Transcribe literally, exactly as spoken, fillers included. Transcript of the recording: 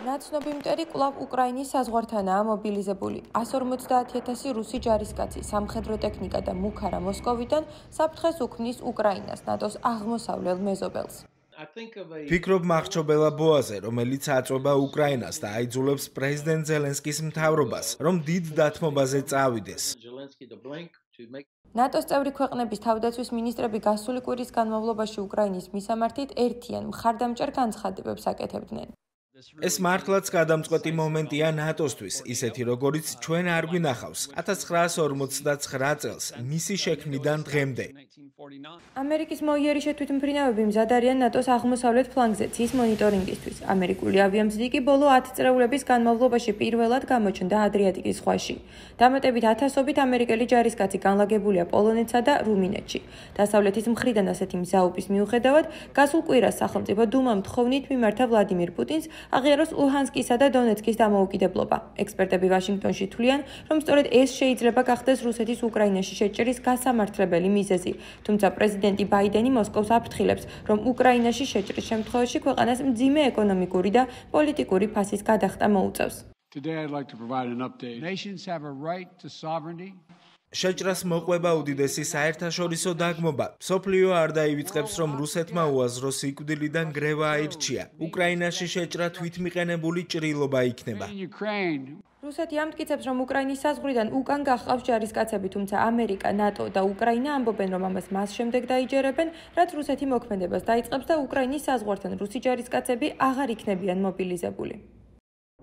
ნაცნობი მტერი კვლავ უკრაინის საზღვართანაა მობილიზებული. ასი жүз ორმოცდაათი ათასი რუსი ჯარისკაცი, სამხედრო ტექნიკა და მუქარა მოსკოვიდან საფრთხეს უქმნის უკრაინას, ნატოს აღმოსავლელ მეზობელს. ფიქრობ მახრჩობელა ბოაზე, რომელიც აწვება უკრაინას და აიძულებს პრეზიდენტ ზელენსკის მთავრობას, რომ დიდ დათმობაზე წავიდეს. ნატოს წევრი ქვეყნების თავდაცვის მინისტრები გასული კვირის განმავლობაში უკრაინის მისამართით ერთიან მხარდამჭერ განცხადებებს აკეთებდნენ. ეს მართლაც გადამწყვეტი მომენტია ნატოსთვის, ისეთი როგორიც ჩვენ არ გვინახავს ათას ცხრაასი ორმოცდაცხრა წელს მისი შექმნიდან დღემდე. ამერიკის მოიერი შეთვითმფრინავები მზად არიან ნატოს აღმოსავლეთ ფლანგზე ცის მონიტორინგისთვის. ამერიკული ავიამზიდი კი ბოლო ათი წრეულების განმავლობაში პირველად გამოჩნდა ადრიატიკის ზღვაში. დამატებით ათასობით ამერიკელი ჯარისკაცი განლაგებულია პოლონეთსა და რუმინეთში. დასავლეთის მხრიდან ასეთი მზაობის მიუხედავად, გასულ კვირას სახელმწიფო დუმამ თხოვნით მიმართა ვლადიმირ პუტინს აღიაროს ლუჰანსკისა და დონეცკის დამოუკიდებლობა. ექსპერტები ვაშინგტონში თვლიან, რომ სწორედ ეს შეიძლება გახდეს რუსეთის უკრაინაში შეჭრის გასამართლებელი მიზეზი. თუმცა პრეზიდენტი ბაიდენი მოსკოვს აფრთხილებს, რომ უკრაინაში შეჭრის შემთხვევაში ქვეყანას მძიმე ეკონომიკური და პოლიტიკური ფასის გადახდა მოუწევს. შეჭრას მოყვება უდიდესი საერთაშორისო დაგმობა. მსოფლიო არ დაივიწყებს, რომ რუსეთმა უაზრო სიკვდილიდან გრევა აირჩია. უკრაინაში შეჭრა თვითმიყენებული ჭრილობა იქნება. რუსეთი ამტკიცებს, რომ უკრაინის საზღვრიდან უკან გახყავს ჯარისკაცები, თუმცა ამერიკა, ნატო და უკრაინა ამბობენ, რომ ამას მას შემდეგ დაიჯერებენ, რაც რუსეთი მოქმედებას დაიწყებს და უკრაინის საზღვართან რუსი ჯარისკაცები აღარ იქნებიან მობილიზებული.